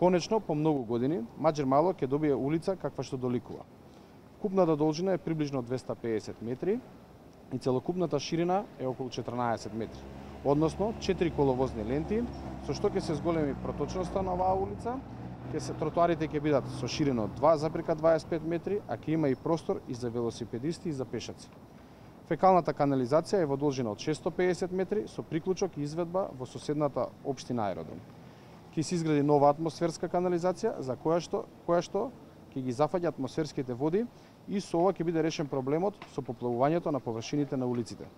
Конечно, по многу години, Маџер Мало ќе добие улица каква што доликува. Купната должина е приближно 250 метри и целокупната ширина е околу 14 метри. Односно, 4 коловозни ленти, со што ќе се зголеми проточноста на оваа улица, тротоарите ќе бидат со ширина од 2,25 метри, а ќе има и простор и за велосипедисти и за пешаци. Фекалната канализација е во должина од 650 метри со приклучок и изведба во соседната општина Аеродром. Ќе се изгради нова атмосферска канализација за која што ќе ги зафаќа атмосферските води и со ова ќе биде решен проблемот со поплавувањето на површините на улиците.